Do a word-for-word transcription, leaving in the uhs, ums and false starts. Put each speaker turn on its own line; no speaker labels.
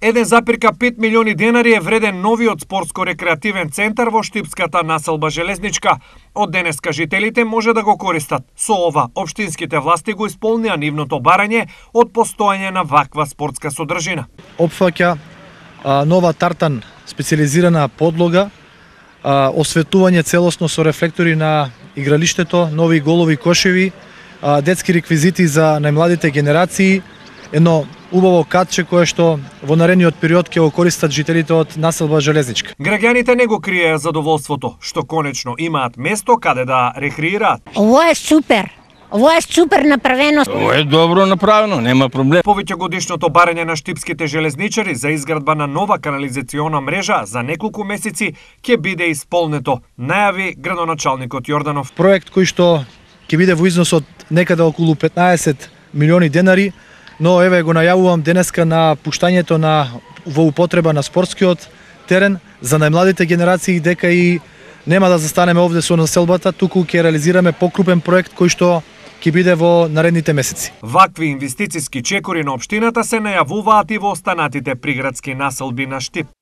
еден запир пет милиони денари е вреден новиот спортско-рекреативен центар во Штипската населба Железничка. Од денеска жителите може да го користат. Со ова, општинските власти го исполнија нивното барање од постоење на ваква спортска содржина.
Опфаќа а, нова тартан специализирана подлога, а, осветување целосно со рефлектори на игралиштето, нови голови кошеви, а, детски реквизити за најмладите генерации, едно убаво катче кое што во наредниот период ќе го користат жителите од населба Железничка.
Граѓаните не го криеа задоволството што конечно имаат место каде да рекреираат.
Ово е супер. Ово е супер направено.
Ово е добро направено, нема проблем.
Повеќе годишното барање на штипските железничари за изградба на нова канализациона мрежа за неколку месеци ќе биде исполнето, најави градоначалникот Јорданов.
Проект кој што ќе биде во износ од некаде околу петнаесет милиони денари, но еве го најавувам денеска на пуштањето на во употреба на спортскиот терен за најмладите генерации, дека и нема да застанеме овде со населбата, туку ќе реализираме покрупен проект кој што ќе биде во наредните месеци.
Вакви инвестициски чекори на општината се најавуваат и во останатите приградски населби на Штип.